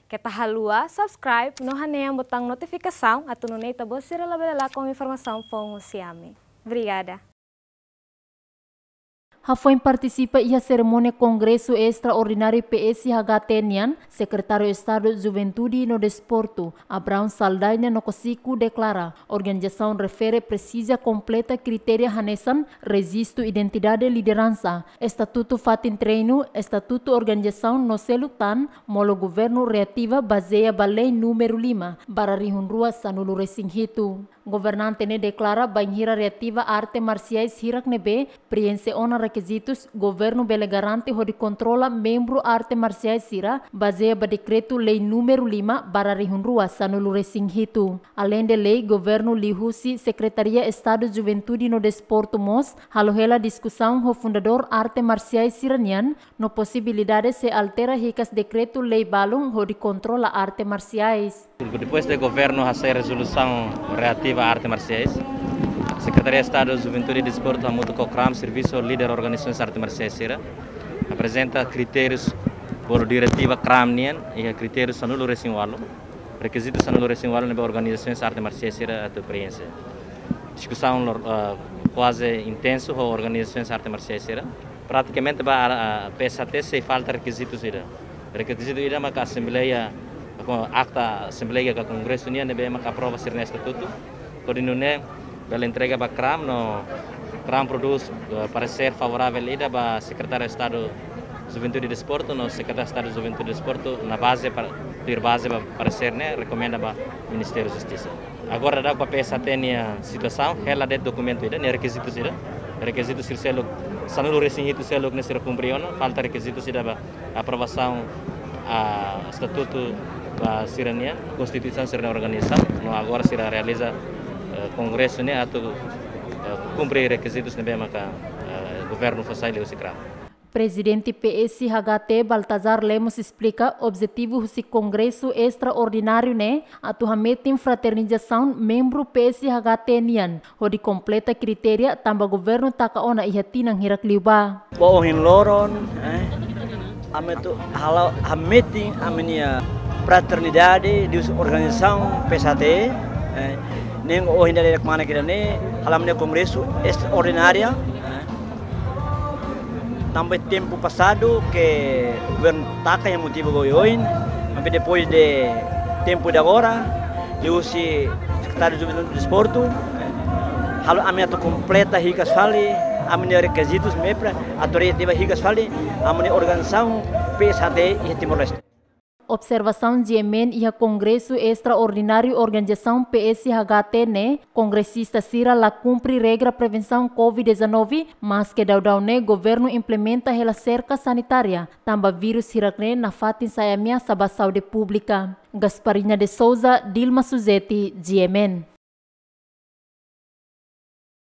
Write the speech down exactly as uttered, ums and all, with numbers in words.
Keta haluha subscribe no hanehan butaun notifikasaun atu nune'e ita-boot sira labele lakon informasaun foun husi ami. Obrigada. Hafoin partisipa iha serimónia Kongresu Estraordináriu P S H T nian, Sekretáriu Estadu Juventude no Desportu, Abraão Saldanha no Kosiku, deklara organizasaun refere presiza kompleta kritéria hanesan rejistu identidade lideransa, estatutu fatin treinu, estatutu organizasaun no seluk tan, molok governu reativa bazeia ba lei númeru lima barra rihun rua sanulu resin hitu. Governante ne'e deklara bainhira reativa arte marsiais hirak ne'ebé prienxe ona rekizitus, governu bele garante hodi kontrola membru arte marsiais sira bazeia ba dekretu lei númeru lima barra rihun rua sanulu resin hitu. Aleinde lei, governu liuhusi Sekretaria Estadu Juventude no Desportu mós halo hela diskusaun ho fundadór arte marsiais sira-nian no posibilidade sei altera hikas dekretu lei balun hodi kontrola arte marsiais. Depois de governu hasai rezolusaun reativa arte marsiais, Sekretaria Estadu Juventude e Desportu hamutuk ho kram servisu líder organizasaun arte marsiais sira aprezenta kritérius bolu diretiva kram nian, iha kritériu sanulu resin ualu, rekizitu sanulu resin ualu ne'ebé organizasaun arte marsiais sira atu prienxe. Diskusaun lor, ah, kuaze intensu ho organizasaun arte marsiais sira. Pratikamente ba, ah, P S H T sei falta rekizitus ida. Rekizitu ida maka asembleia, ko-, akta asembleia ka kongresu nian ne'ebé maka aprova sira-nia estatutu. Hodi nune'e bele entrega ba kram no kram prodús, eh, paresér favoravel ida ba Sekretáriu Estadu Juventude e Desportu no Sekretáriu Estadu Juventude e Desportu na baze para, tuir baze ba paresér ne'e rekomenda ba Ministériu Justisa. Agora daudaun ba P S H T nia situasaun, hela de'it dokumentu ida, nia rekizitus ida. Rekizitu sira seluk, sanulu resin hitu seluk ne'e sira kumpre ona, falta rekizitus ida ba aprovasaun, ah, estatutu ba sira-nian, konstituisaun sira-nia organizasaun, no agora sira realiza, eh, kongresu ne'e atu, eh, kumpre rekizitus ne'ebé maka, eh, governu fó sai liuhusi kram. Prezidente P S H T, Baltazar Lemos, esplika objetivu husi Kongresu Estraordináriu ne'e atu hametin fraternizasaun membru P S H T nian, hodi kompleta kritéria tanba governu taka ona iha tinan hirak liubá. Ba ohin loron, eh, ami atu halo hametin ami-nia fraternidade liuhusi organizasaun P S H T, eh, ne'e ohin dadauk mak ne'e halo ami-nia kongresu estraordinária, eh, tanba tempu pasadu ke governu taka iha motivu oioin, maibé depois de tempu de agora, liuhusi Sekretáriu Juventude e Desportu, eh, halo ami atu kompleta hikas fali ami-nia rekizitus ne'ebé para atu reativa hikas fali ami-nia organizasaun P S H T iha Timor-Leste. Observasaun G M N iha Kongresu Estraordináriu Organizasaun P S H T ne'e, kongresista sira la kumpre regra prevensaun covid dezanove, maske daudaun ne'e governu implementa hela serka sanitária, tanba vírus hirak ne'e nafatin sai ameasa ba saúde públika. Gasparina de Souza, Dilma Suzeti, G M N.